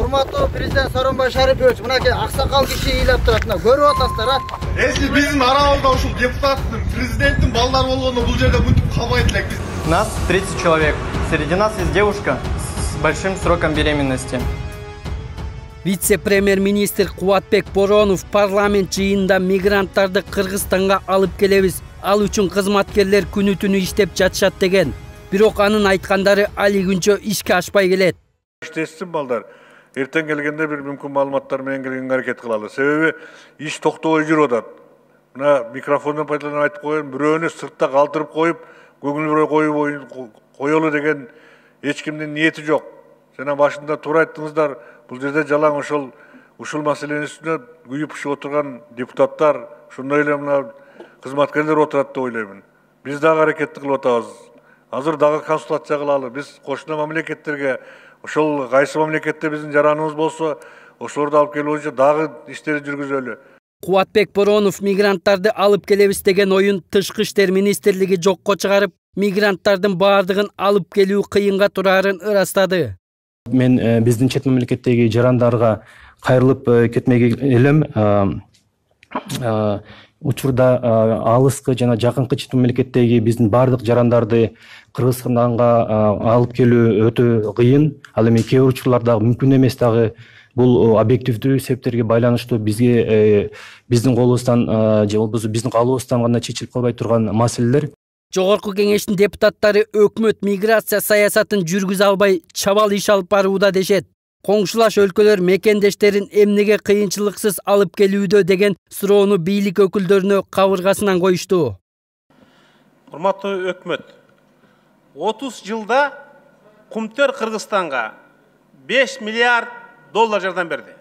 Урматтуу президент Сооронбай Шарипович, мынакей аксакал киши ыйлап турат, мына көрүп атасыздар, а? Если биздин арабызда ушул депутаттын, президенттин балдары болгондо бул жерде мынтип калбайт элек биз. Нас 30 человек. Среди нас есть девушка с большим сроком беременности. Вице-премьер-министр Кубатбек Боронов парламент жыйынында мигранттарды Кыргызстанга алып келебиз. Ал үчүн кызматкерлер күнү-түнү иштеп жатышат деген. Бирок анын айткандары али күнчө ишке ашпай келет. İştesin balдар. Erten gelgende bir mümkün malumatlar menен келген hareket kılalı. Sebebi iş tokтобой жүрүп атат. Mına mikrofondan paydalanıp aytıp koyun, biröөнү sırtta kaldırıp koyup, көңүл бурай koyolu деген эч кимдин ниети жок. Жана башында туура айттыңыздар, бул жерде жалаң ушул маселенин үстүнө күйүп пышып отурган депутаттар, ошондой эле мына кызматкерлер отурат деп ойлоймун. Биз дагы аракетти кылып атабыз. Азыр дагы консультация кылалы. Биз кошуна мамлекеттерге ошол кайсы мамлекетте биздин жараныбыз болсо, ошолорду алып келүү боюнча дагы иштерди жүргүзөлү. Кубатбек Боронов мигранттарды алып келебиз деген оюн Тышкы иштер министрлиги жокко чыгарып, мигранттардын баардыгын алып келүү кыйынга турарын ырастады. Мен биздин чет мамлекеттеги жарандарга кайрылып кетмек элем. Учурда алыскы жана жакынкы чет мамлекеттеги биздин баардык жарандарды Кыргызстанга алып келүү өтө кыйын. Ал эми кээ бир учурларда мүмкүн эмес дагы. Бул объективдүү себептерге байланыштуу бизге биздин колубуздан же болбосо биздин калыбыздан гана чечилип калбай турган маселелер. Жогорку кеңештин депутаттары өкмөт миграция саясатын жүргүзө албай чабал иш алып барууда дешет. Коңшулаш өлкөлөр мекендештерин эмнеге кыйынчылыксыз алып келүүдө деген суроону бийлик өкүлдөрүнө кабыргасынан коюшту. Урматтуу өкмөт, 30 жылда Кумтөр Кыргызстанга 5 миллиард доллар жардам берди.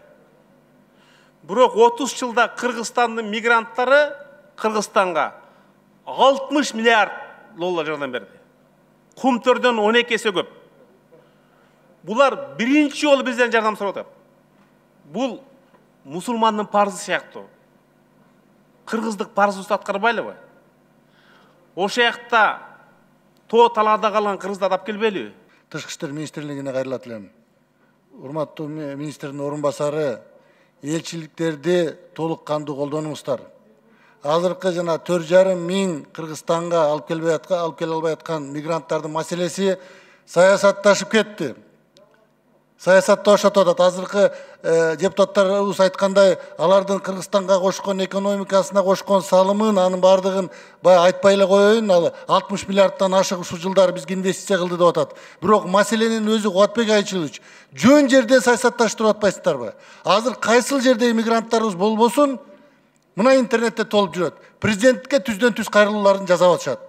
Бирок 30 жылда Кыргызстандын мигранттары Кыргызстанга 60 миллиард доллар жардам берди. Кумтөрдөн 12 эсе көп. Булар биринчи жолу бизден жардам сурап атат. Бул мусулмандын парзы сыяктуу. Кыргыздык парзыбызды аткарбайлыбы? Ошол жакта тоо талаада калган кыргыздарды алып келбейлиби? Тышкы иштер министрлигине кайрылат элем. Урматтуу министрдин орун басары, элчиликтерди толук кандуу колдонуңуздар. Азыркы жана 4,5 миң Кыргызстанга алып келе албай аткан мигранттардын маселеси саясатташып кетти. Саясатта ошотуп атат. Азыркы депутаттарыбыз айткандай, алардын Кыргызстанга кошкон экономикасына кошкон салымын, анын баардыгын баягы айтпай эле коеюн, ал 60 миллиардтан ашык ушул жылдары бизге инвестиция кылды деп атат. Бирок маселенин өзү Кубатбек Айчылович, жөн жерде саясатташтырып атпайсыздарбы? Азыр кайсыл жерде мигранттарыбыз болбосун, мына интернетте толуп жүрөт. Президентке түздөн-түз кайрылууларын жасап атышат.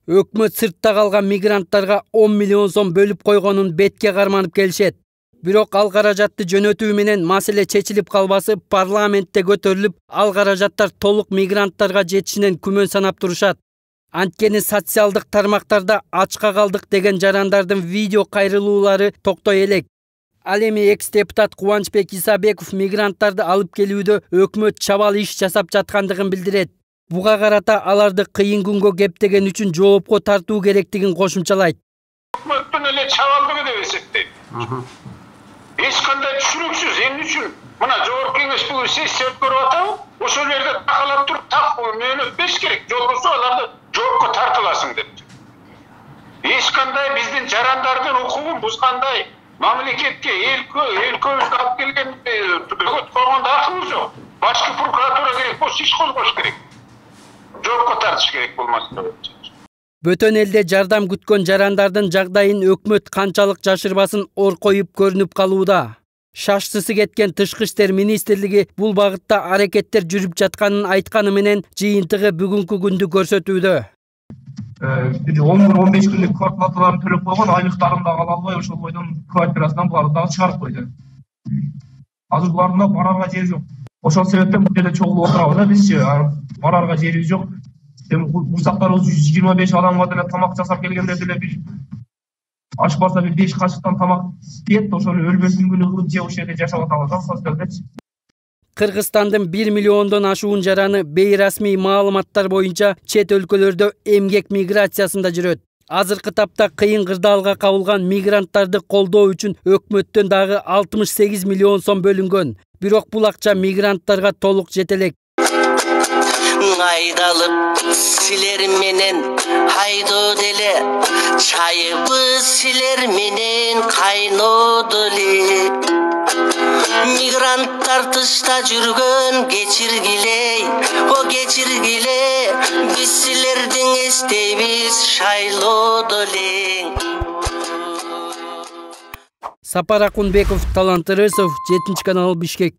Өкмөт сыртта калган мигранттарга 10 миллион сом бөлүп койгонун бетке карманып келишет. Бирок ал каражатты жөнөтүү менен маселе чечилип калбасы парламентте көтөрүлүп, ал каражаттар толук мигранттарга жетишинен күмөн санап турушат. Анткени социалдык тармактарда ачка калдык деген жарандардын видео кайрылуулары токтой элек. Ал эми экс-депутат Кубанычбек Исабеков мигранттарды алып келүүдө өкмөт чабал иш жасап жаткандыгын билдирет. Буга карата аларды кыйын күнгө кептеген үчүн жоопко тартуу керектигин кошумчалайт. Өкмөттүн эле чабалдыгы деп эсептейм. Эч кандай түшүнүксүз, эмне үчүн? Мына жогорку кеңеш бүгүн сессия өткөрүп атабы? Ошол жерде такалап туруп так мөөнөт бериш керек. Жолбосо аларды жоопко тартыласың деп. Эч кандай биздин жарандардын укугун бузгандай мамлекетке өлкөбүзгө алып келген бөгөт койгондо акыбыз жок. Башкы прокуратура керек болсо иш козгош керек. Жоопко тартыш керек болмаса. Бөтөн элде жардам күткөн жарандардын жагдайын өкмөт канчалык жашырбасын ор коюп көрүнүп калууда. Шашсысы кеткен Тышкы иштер министрлиги бул багытта аракеттер жүрүп жатканын айтканы менен жыйынтыгы бүгүнкү күндү көрсөтүүдө. 10-15 күндүк квартплаталарын төлөп койгон, айлыктарын да ала албай ошол бойдон квартирасынан буларды дагы чыгарып койду. Азыр булардын да барарга жери жок. Ошол себептен бул жерде чогулуп отурабыз да бизчи, барарга жерибиз жок. Бурсактарыбыз 125 адамга деле тамак жасап келгенде деле бир ашпаса бир 5 кашыктан тамак кет, ошол өлбөсүн күнү кылып жеп ошол жерде жашап атабыз да соцдалдачы. Кыргызстандын 1 миллиондон ашуун жараны бейрасмий маалыматтар боюнча чет өлкөлөрдө эмгек миграциясында жүрөт. Азыркы тапта кыйын кырдаалга кабылган мигранттарды колдоо үчүн өкмөттөн дагы 68 миллион сом бөлүнгөн. Бирок бул акча мигранттарга толук жете элек. Айдалып силер менен хайдоду эле, чайыбы силер менен кайноду эле. Мигранттар тышта жүргөн кечиргиле, о кечиргиле, биз силердин эстейбиз шайлоду эле. Сапар Акунбеков, Талант Ырысов, 7 канал, Бишкек.